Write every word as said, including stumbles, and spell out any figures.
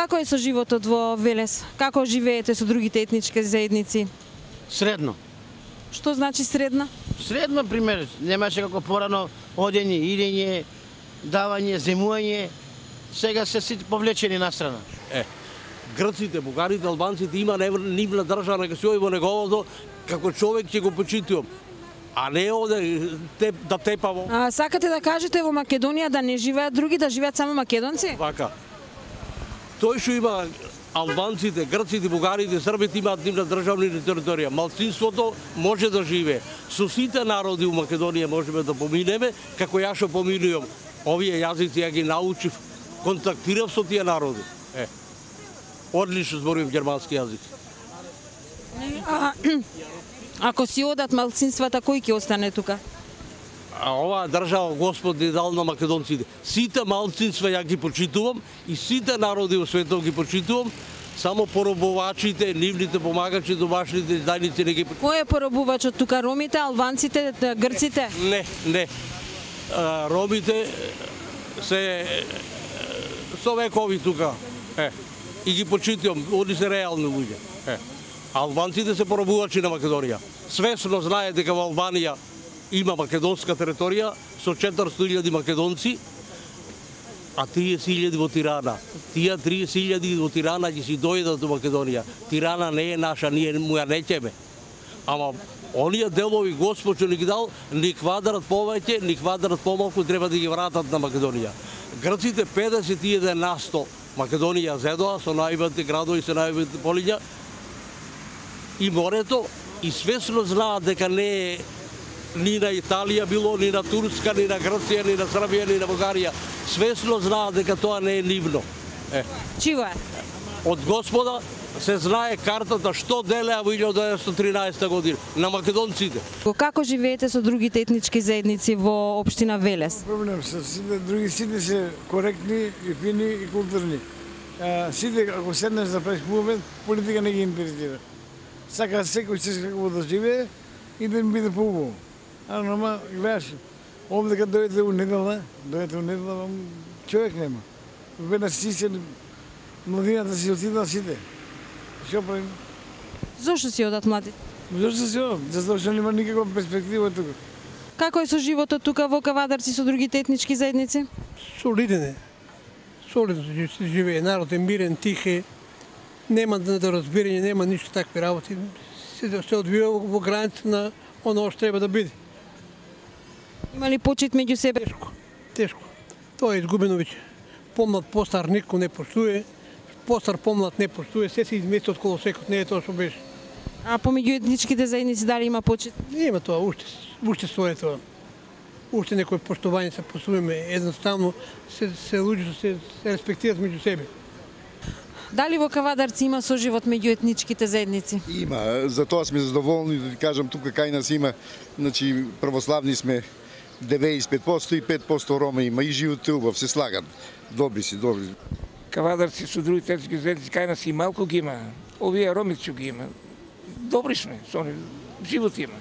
Како е со животот во Велес? Како живеете со другите етнички заедници? Средно. Што значи средна? Средно, пример, немаше како порано одење, идење, давање, земување, сега се сите повлечени на страна. Е, грците, бугарите, албанците има нивна држава, нека се оди во неговото, како човек ќе го почитувам. А не оде те, да тепаво. А, сакате да кажете во Македонија да не живеат други, да живеат само македонци? Вака. Тој што има албанците, грците, бугарите, србите имаат нивна државна територија. Малцинството може да живее. Со сите народи у Македонија можеме да поминеме, како ја што поминувам. Овие јазици ја ги научив, контактирав со тие народи. Е. Одлично зборувам германски јазик. А, ако си одат малцинствата, кој ќе остане тука? А оваа држава Господ ни дал на македонците. Сите малцинства ја ги почитувам и сите народи во светот ги почитувам, само поробувачите, нивните помагачи, домашните издајници не ги почитувам. Кој е поробувачот тука? Ромите, албанците, грците? Не, не. А, ромите се со векови тука. Е. И ги почитувам, они се реални луѓе. Е. Албанците се поробувачи на Македонија. Свесно знае дека во Албанија има македонска територија со четиристотини илјади македонци, а триесет илјади во Тирана. Тие триесет илјади во Тирана ќе си дојдат до Македонија. Тирана не е наша, ние му ја неќеме. Ама оние делови Господ што ни ги дал, ни квадрат повеќе, ни квадрат помалку, треба да ги вратат на Македонија. Грците педесет и еден на сто Македонија зедоа со најбите градови, со најбите полиња и морето, и свесно знаат дека не е ни на Италија било, ни на Турска, ни на Грција, ни на Србија, ни на Бугарија. Свесно знаат дека тоа не е нивно. Е. Чиво е? Од Господа се знае картата што делеа во илјадум деветстотини и тринаесета година на македонците. Како живеете со другите етнички заедници во општина Велес? Проблем со сите, други сите се коректни и фини и културни. А, сите, ако седнеш да правиш мувмент, политика не ги интересира. Сака секој се како да живее и да им биде поубаво. А нема, гледаш, овде кога дојдете у недела, дојдете у недела, човек нема. Веднаш си се, младината си отидат сите. Што правим? Зошто си одат млади? Зошто си одат? Затоа што нема никаква перспектива тука. Како е со животот тука во Кавадарци со другите етнички заедници? Солиден е. Солидно се живее, народ е мирен, тих е, нема недоразбирање, нема ништо такви работи. Се, се одвива во граница на оно што треба да биде. Има ли почит меѓу себе? Тешко, тешко. Тоа е изгубено веќе. Помлад, постар никој не поштуе, постар, помлад не поштуе, се се измести од колосекот, не е тоа што беше. А помеѓу етничките заедници дали има почит? Не има тоа, уште, уште стои тоа. Уште некој поштување се посуваме, едноставно се, се луѓето се, се респектират меѓу себе. Дали во Кавадарци има соживот меѓу етничките заедници? Има, за тоа сме задоволни, да ти кажам, тука кај нас има, значи православни сме деветдесет и пет проценти и пет проценти рома има и живот е убав, се слагат. Добри си, добри. Кавадарци со другите етнички заедници кај нас и малку ги има. Овие ромици ги има. Добри сме, со они живот има.